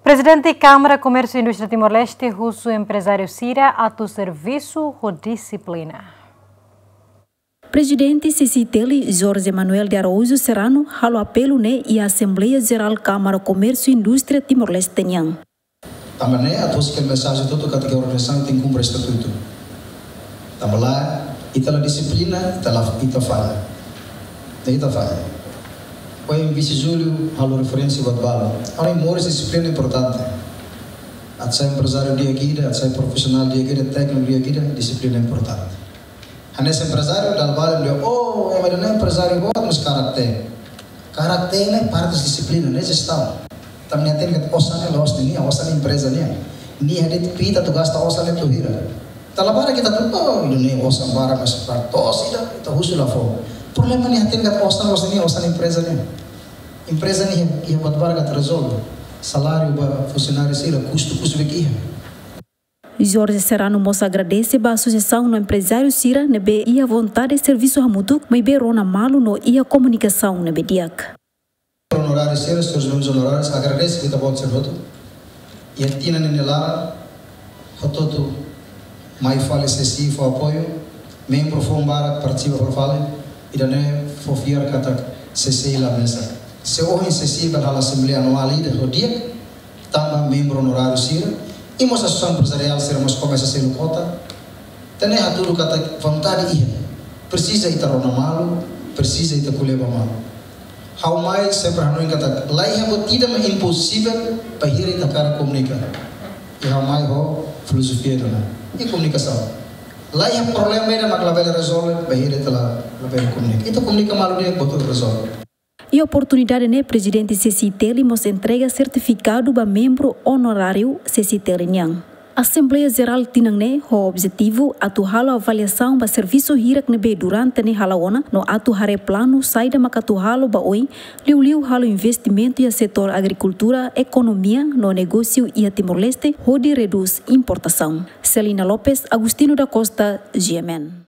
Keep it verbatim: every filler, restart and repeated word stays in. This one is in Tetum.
Prezidente Kámara Komérsiu Indústria Timor-Leste husu emprezáriu sira atu servisu ho dixiplina. Prezidente C C I T L, Jorge Manuel de Araújo Serrano, halo apelu ne'e iha Asembleia Jerál Kámara Komérsiu Indústria Timor-Leste nian. Tanba ne'e atu husik mensajen hotu-hotu katak organizasaun tenke kumpre estatutu. Tanba la, ita la dixiplina, ita la, ita falla. Ita falla. Ohin Vise Júlio halo referénsia buat balu. Ha'u hanoin moris dixiplina importante. Atu sai emprezáriu di'ak ida, atu sai profisionál di'ak ida, tékniku di'ak ida, dixiplina importante. Hanesan emprezáriu dala balu dehan, oh, ema ida-ne'e emprezáriu boot, mas karakter. Karakter ne'e parte dixiplina, ne'e jestaun. Tanba nia hatene katak osan ne'e la'ós nia, osan empreza nian. Nia de'it ita atu gasta osan ne'e to'o hira. Ita la para ita atu, oh, ida-ne'e osan barak, mas para to'o ida, ita husu la fó. Problema nia hatene katak osan la'ós nia, osan empreza nian. Empreza ne'e iha buat barak atu rezolve. Saláriu ba funsionáriu sira, kustu, kustu be iha. Jorge Serrano mós agradese ba asosiasaun no emprezáriu sira ne'ebé iha vontade servisu hamutuk, maibé rona malu no iha komunikasaun ne'ebé di'ak. Onoráriu sira, señores membros onorárius, agradese ba ita-boot sira hotu. Iha tinan ne'e nia laran, hotu-hotu mai fali C C I fó apoiu, membru foun barak partisipa fali, ida-ne'e fó fiar katak C C I la mesak. Se ohin C C I bele halo asembleia anuál ida ho di'ak, tanba membru onoráriu sira, i mós asosiasaun emprezariál sira mós komesa selu kota. Entaun ne'e hatudu katak vontade iha. Presiza ita rona malu, presiza ita ko'alia ba malu. Ha'u mai sempre hanoin katak la iha buat ida mak imposivel bainhira ita hakarak komunika. I ha'u mai ho filozofia ida-ne'e. I komunikasaun. La iha problema ida mak labele rezolve bainhira ita la, labele komunika. Ita komunika malu di'ak, buat hotu rezolve. Iha oportunidade ne'e, Prezidente C C I T L mós entrega sertifikadu ba membru onoráriu C C I T L nian. Asembleia Jerál tinan ne'e ho objetivu atu halo avaliasaun ba servisu hirak ne'ebé durante ne'e hala'o ona no atu haree planu saida mak atu halo ba oin, liuliu halo investimentu iha setór agrikultura, ekonomia no negósiu iha Timor-Leste hodi redús importasaun. Celina Lopes, Agostinho da Costa, G M N.